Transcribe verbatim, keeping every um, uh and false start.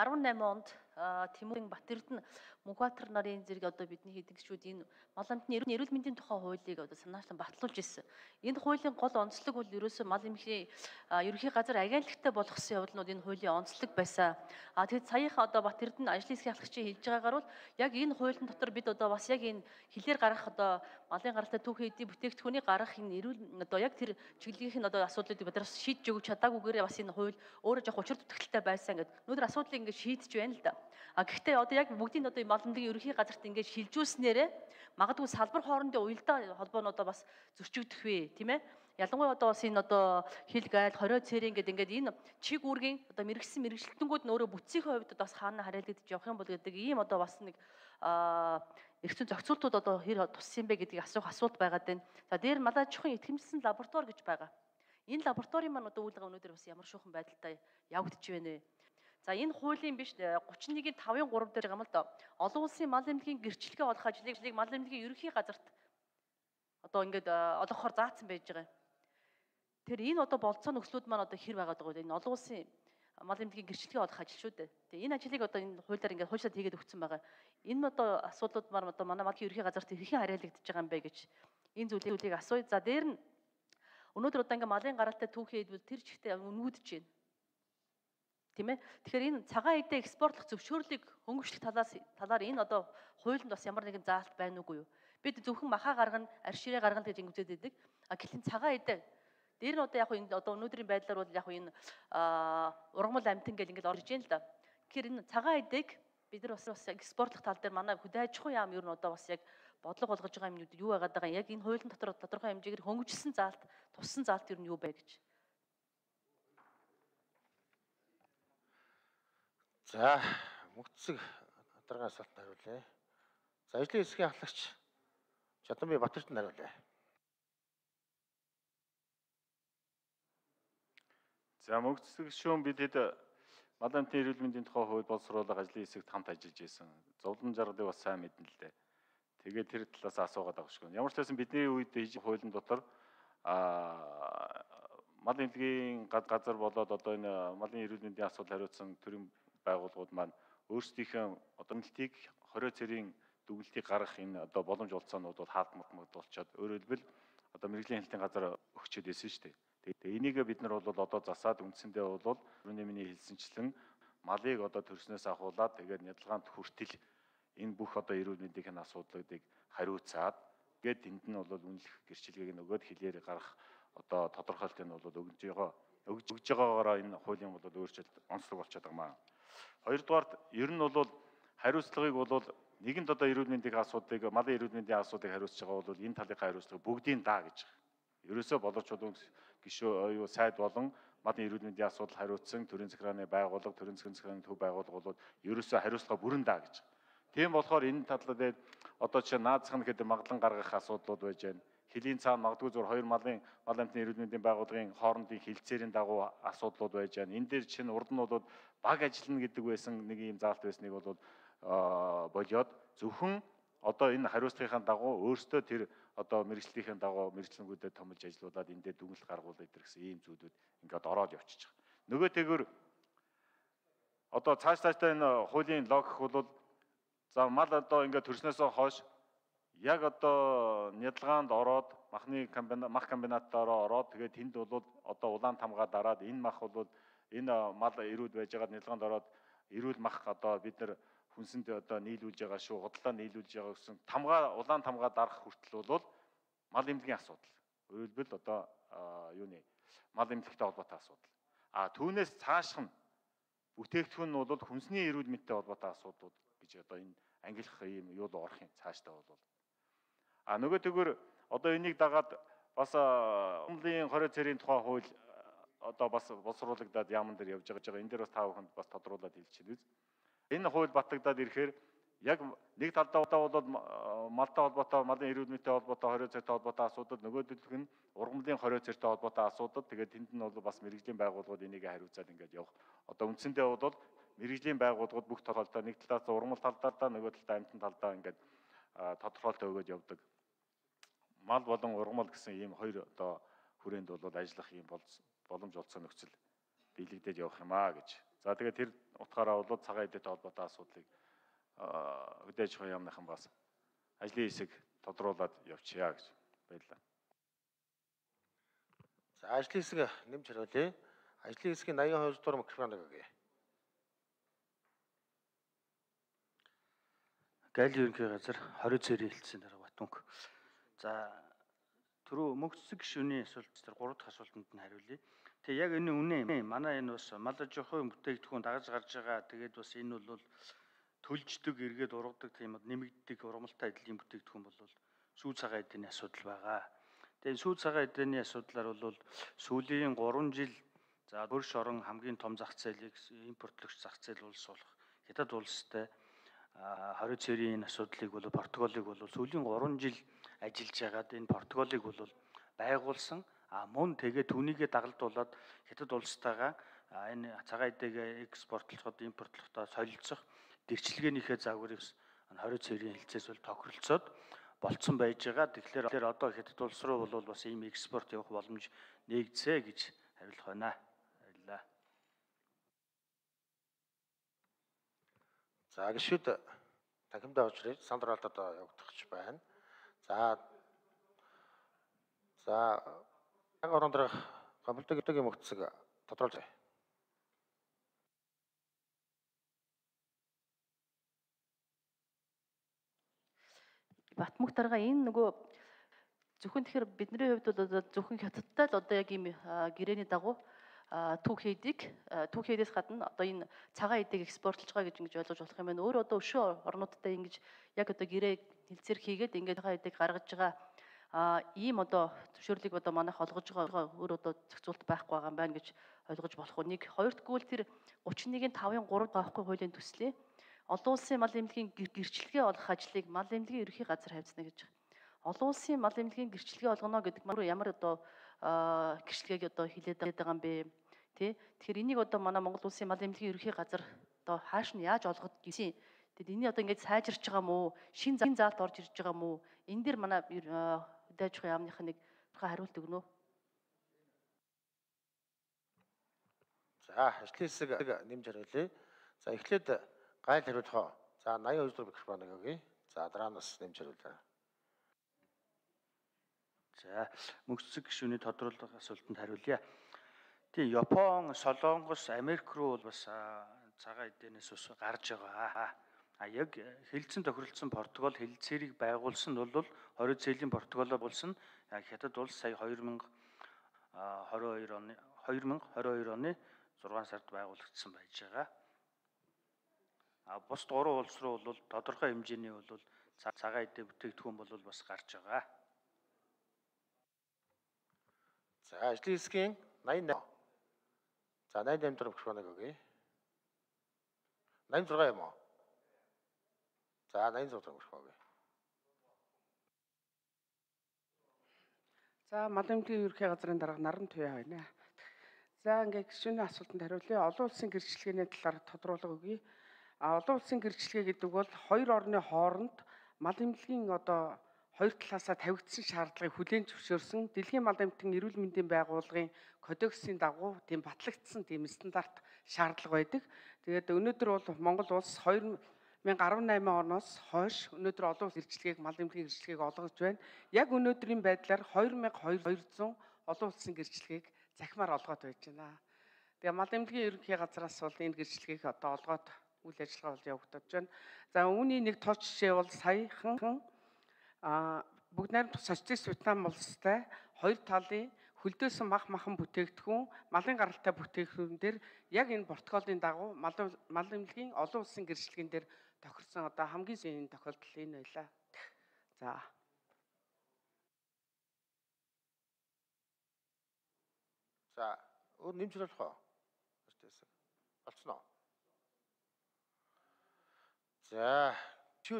арван найман онд Тэмүүрийн Батэрдэн Мөнхбаатар нарын зэрэг одоо бидний хийдэг шүүд энэ мал амтны эрүүл мэндийн тухай хуулийг одоо санаачлан батлуулж ирсэн. Энэ хуулийн гол онцлог бол ерөөсөө мал эмнэлгийн ерөнхий газар агентлагтай болгосон явдал нь энэ хуулийн онцлог байсан. А тэгэд саяхан одоо Батэрдэн ажлын хэсгийн ахлагчийн хэлж байгаагаар бол яг энэ хуулийн дотор бид одоо бас яг энэ хилээр гарах одоо малын гаралтай түүхийн эдийн бүтээгдэхүүний гарах энэ эрүүл одоо яг тэр чиглэлийн одоо асуудлуудыг бид нар шийдэж өгч чадаагүйгээр бас энэ хууль өөрөө жоох учир дутагдaltaй байсан гэдэг. Өнөөдөр асуудлыг ингээд шийдэж байна л да. А гэхдээ одоо яг бүгдийн одоо мал эмнэлгийн ерөнхий газарт ингээд шилжүүлснээрээ магадгүй салбар хоорондын уялдаа холбоонуудаа бас зөрчигдөх вэ, тийм ээ? Ялангуяа одоо бас энэ одоо хил гайл, хорио цэрийн гэдэг ингээд энэ чиг үүргийн одоо мэрэгсэн мэрэгчлэлтэнгүүд нь өөрөө бүтцийнхээ хувьд бас хаана харьяалагдаж явах юм бол гэдэг ийм одоо бас нэг аа эрхцэн зохицуултууд одоо хэр туссан юм бэ гэдгийг асуух асуулт байгаад байна. За дээр мал аж ахуйн итгэмжлэсэн лаборатори гэж байгаа. Энэ лабораторийн маань одоо үйл яваа өнөөдөр бас ямар шуухан байдалтай явагдаж байна вэ? За энэ хуулийн биш гучин нэгin тавын гурав дээр байгаа юм л да. Олон улсын мал эмнэлгийн гэрчлэгээ олох ажлыг мал эмнэлгийн ерөнхий газарт одоо ингээд олгохоор заасан байж байгаа. Тэр энэ одоо болцоо нөхцлүүд маань одоо хэр байгаад байгаа вэ? Энэ олон улсын мал эмнэлгийн гэрчлэгээ олох ажил шүү дээ. Тэгээ энэ ажлыг одоо энэ хуулиар ингээд хуульчлаад хийгээд өгсөн байгаа. Энэ одоо асуудлууд маань одоо манай малын ерөнхий газарт хэрхэн харьяалагдаж байгаа юм бэ гэж энэ зүйлийг асууя. За дээр нь өнөөдөр одоо ингээд малын гаралтай түүхий хэдвэл тэр чигтээ өнгөдөж байна. Тийм ээ. Тэгэхээр энэ цагаан эдээ экспортлох зөвшөөрлийг хөнгөвчлөх талаас талаар энэ одоо хуулинд бас ямар нэгэн заалт байна уугүй юу? Бид зөвхөн махаа гаргана, арширээ гаргана гэж ингэдэг байдаг. А гэхэл цагаан эдээ дээр нь одоо яг энэ одоо өнөөдрийн байдлаар бол яг энэ ургамал амтан гэл ингээд орж ийн л да. Тэгэхээр энэ цагаан эдээг бид нар бас бас экспортлох тал дээр манай хөдөө аж ахуйн яам ер нь одоо бас яг бодлого болгож байгаа юмнууд юу байгаад байгаа юм? Яг энэ хуулийн дотор тодорхой хэмжээгээр хөнгөжсөн заалт, туссан заалт ер нь юу бэ гэж. За, мөгцөг дараагийн асуултанд хариулъя. За, ажлын хэсгийн ахлагч Чадамбай Батэрдэн хариулъя. За, мөгцөг шүүн бид хэд мал амтны эрүүл мэндийн тухай хууль боловсруулах ажлын хэсэгт хамт ажиллаж байсан. Зовлон жаргалыг бас сайн мэднэ л дээ. Тэгээд тэр талаас асуугаад байгаа шүү. Ямар ч байсан бидний үед хийж хуулийн дотор аа мал эмнэлгийн газар болоод одоо энэ малын эрүүл мэндийн асуудал хариуцсан төрийн байгууллагууд маань өөрсдийнхөө одоо эмнэлтийг хорио цэрийн дүгнэлтийг гаргах энэ одоо боломж олцоонууд бол хаалтмагд болчиход өөрөөр хэлбэл одоо мэрэгжлийн хэлтийн газар өгчөөд байсан шүү дээ. Тэгээ энийг бид нар бол одоо засаад үндсэндээ бол түрүүний миний хэлсэнчлэн малыг одоо төрснөөс ахуулаад тэгээд нядалгаанд хүртэл энэ бүх одоо эрүүл мэндийн асуудлуудыг хариуцаад тэгээд энд нь бол үнэлэх гэрчлэгийг нөгөөд хилээр гарах одоо тодорхойлтыг нь бол өгж байгаа өгж өгж байгаагаараа энэ хуулийн бол өөрчлөлт онцлог болчиход байгаа маа. Хоёрдугаарт ер нь бол хариуцлагыг бол нэгэнд одоо эрүүл мэндийн асуудлыг малын эрүүл мэндийн асуудлыг хариуцж байгаа бол энэ талынхаа хариуцлага бүгдийн даа гэж. Ерөөсөө боловч чулуун гишүү юу сайд болон малын эрүүл мэндийн асуудал хариуцсан төрийн захиргааны байгууллага, төрийн захиргааны төв байгууллага бол ерөөсөө хариуцлага бүрэн даа гэж. Тийм болохоор энэ талаар одоо чинь наацхан гэдэг магадлан гаргах асуудлууд байж байна. Хилийн цаана магадгүй зур хоёр малын мал амтны эрүүл мэндийн байгууллагын хоорондын хилцээрийн дагуу асуудлууд байж байна. Энэ дээр чинь урд нь бол баг ажиллана гэдэг байсан нэг юм заалт байсныг бол болоод зөвхөн одоо энэ хариуцлагын дагуу өөрсдөө тэр одоо мэрэгжлийн дагуу мэрэгчлэнгүүдэд томилж ажиллаулаад энэ дээр дүгнэлт гаргуулдаг гэсэн ийм зүйлүүд ингээд ороод явчихж байгаа. Нөгөө тэгвэр одоо цааш цаашдаа энэ хуулийн логик бол за мал одоо ингээд төрснөөсөө хойш яг одоо нядалгаанд ороод махны комбинат мах комбинаттаараа ороод тэгээд тэнд бол одоо улаан тамгаа дараад энэ мах бол энэ мал эрүүл байж байгаа нядалгаанд ороод эрүүл мах одоо бид нар хүнсэнд одоо нийлүүлж байгаа шүү, худалдаа нийлүүлж байгаа гэсэн тамгаа улаан тамгаа дарах хүртэл бол мал эмнэлгийн асуудал. Өөрөлдвөл одоо юуны мал эмнэлэгтэй холбоотой асуудал. А түүнээс цаашх нь бүтээгдэхүүн нь бол хүнсний эрүүл мэндтэй холбоотой асуудлууд гэж одоо энэ ангилах юм юу л орох юм цаашдаа бол. А нөгөө тэгвэр одоо энийг дагаад бас умлын хорио цэрийн тухай хууль одоо бас боловсруулагдаад яамн дээр явж байгаа. Энэ дээр бас та бүхэнд бас тодруулаад хэлчихье. Энэ хууль батлагдаад ирэхээр яг нэг талдаа бол малтай холбоотой, малын эрүүл мэндтэй холбоотой, хорио цэртэй холбоотой асуудал, нөгөөдөлх нь ургамлын хорио цэртэй холбоотой асуудал. Тэгээд тэнд нь бол бас мэрэгжлийн байгууллагууд энийг хариуцаад ингээд явах. Одоо үндсэндээ бол мэрэгжлийн байгууллагууд бүх толгойлтоо нэг талаас ургамал талдаа, нөгөө талдаа амтан талдаа ингээд тодорхойлтоо өгөөд явдаг. Мал болон ургамал гэсэн ийм хоёр одоо хүрээнд бол ажиллах ийм боломж олцсон нөхцөл биелэгдээд явах юм аа гэж За тэгээд тэр утгаараа бол цагаан эдэтэй холбоотой асуудлыг хөдөө аж ахуйн яамныхан бас ажлын хэсэг тодруулаад явчихъя гэж баярлалаа. За ажлын хэсэг нэмж хариулъя. Ажлын хэсгийн восемьдесят хоёр дугаар микрофоныг өгье. Гайл ерөнхий газар хорин цэрийн хэлтсийн дараа Батмүнх. За түрүү мөнх цэцэг гишүүний асуулт дээр гурав дахь асуултанд нь хариулъя. Тэгээ яг энэ үнэ юм. Манай энэ бас мал аж ахуйн бүтээгдэхүүн дагаж гарч байгаа. Тэгээд бас энэ бол төлждөг, эргээд ургадаг тийм нэмэгддэг ургамалтай эдлийн бүтээгдэхүүн бол сүү цагаан эдний асуудал байгаа. Тэгээд сүү цагаан эдний асуудлаар бол сүүлийн гурван жил за хөрш орон хамгийн том зах зээлийг импортлогч зах зээл улс болох Хятад улстай хорин цэрийн асуудлыг бол Португалыг бол сүүлийн гурван жил ажиллаж байгаад энэ Португалыг бол байгуулсан. А мөн тэгээ түүнийгээ дагалдуулаад Хятад улстайгаа энэ цагаан эдэгээ экспортлоход импортлохдоо солилцох дэрчилгээнийхээ загварыг хорин цэрийн хэлцээс бол тохиролцоод болцсон байж байгаа. Тэгэхээр одоо Хятад улс руу бол бас ийм экспорт явах боломж нээгдсэ гэж хариулах байна. Баярлалаа. За гишүүд танхимдаа очрыг сандралд одоо явагдах байна. За За яг орон дээрх гомддог гэдэг юм өгцөг тодруулж байна. Батмүх дарга энэ нөгөө зөвхөн тэгэхээр бидний хувьд бол одоо зөвхөн Хятадтай л одоо яг ийм гэрээний дагуу түүх хийдэг. Түүх хийдээс гадна одоо энэ цагаан эдийг экспортлж байгаа гэж ингэж ойлгож болох юм байна. Өөр одоо өшөө орнуудтай ингэж яг одоо гэрээ хэлцээр хийгээд ингээд цагаан эдийг гаргаж байгаа а ийм одоо зөвшөөрлийг одоо манайх олгож байгаа өөр одоо зохицуулт байхгүй байгаа юм байна гэж ойлгож болох уу. Нэг хоёрдугаар нь тэр гучин нэгin тавын гурав гаахгүй хуулийн төслийг олон улсын мал эмнэлгийн гэрчлэгээ олох ажлыг мал эмнэлгийн ерөнхий газар тавьцна гэж байна. Олон улсын мал эмнэлгийн гэрчлэгээ олгоно гэдэг нь ямар одоо гэрчлэгийг одоо хилээд байгаа юм бэ? Тэ? Тэгэхээр энийг одоо манай Монгол улсын мал эмнэлгийн ерөнхий газар одоо хааш нь яаж олгох гэсэн. Тэгэд энийг одоо ингэж сайжирч байгаа мó? Шин заалт орж ирж байгаа мó? Энэ дэр манай хөдөө аж ахуйн яамных нэг хариулт өгнө үү? За ажлын хэсэг нэмж хариулъя. За эхлээд гайл хариулах. За восемьдесят хоёр дугаар микрофоныг өгье. За дараанаас нэмж хариулъя. За мөнх цэцэг гишүүний тодруулах асуултанд хариулъя. Тийм Япон, Солонгос, Америк руу бол бас цагаан эднээс ус гарч байгаа. А яг хэлцэн тохиролцсон Португал хэлцээрийг байгуулсан нь бол хорин цэлийн Португалаа болсон Хятад улс сая две тысячи двадцать two оны две тысячи двадцать two оны зургаан сард байгуулагдсан байж байгаа. А бус гурван улс руу бол тодорхой хэмжээний бол цагаан эдийн бүтээгдэхүүн бол бас гарч байгаа. За ажлын хэсгийн восемьдесят восемь. За восемьдесят восемь дугаар микрофоныг өгье. восемьдесят шесть юм уу? За восемьдесят шесть дугаар микрофон өгье. За мал эмнэлгийн ерөнхий газрын дарга Наран Туяа байна. За ингээд гишүүний асуултанд хариулъя. Олон улсын гэрчлэгээний талаар тодруулга өгье. А олон улсын гэрчлэгээ гэдэг бол хоёр орны хооронд мал эмнэлгийн одоо хоёр талаасаа тавигдсан шаардлагыг хүлээн зөвшөөрсөн Дэлхийн мал эмнэлгийн эрүүл мэндийн байгууллагын кодексийн дагуу тийм батлагдсан тийм стандарт шаардлага байдаг. Тэгээд өнөөдөр бол Монгол улс две тысячи десять оноос хойш өнөөдөр олон улс гэрчлэгийг мал эмнэлгийн гэрчлэгийг олгож байна. Яг өнөөдрийн байдлаар две тысячи two hundred олон улсын гэрчлэгийг захимаар олгоод байж байна. Тэгээ мал эмнэлгийн ерөнхий газраас бол энэ гэрчлэгийг одоо олгоод үйл ажиллагаа бол явагдаж байна. За үүний нэг тод жишээ бол саяхан а бүгд найрамдах социалист Вьетнам улстай хоёр талын хөлдөөсөн мах махан бүтээгдэхүүн, малын гаралтай бүтээгдэхүүн дээр яг энэ протоколын дагуу мал мал эмнэлгийн олон улсын гэрчлэгэн дээр тохирсон одоо хамгийн сайн тохиолдол энэ байлаа. За. За өөр нэмж хариулах уу? Болцсон уу? За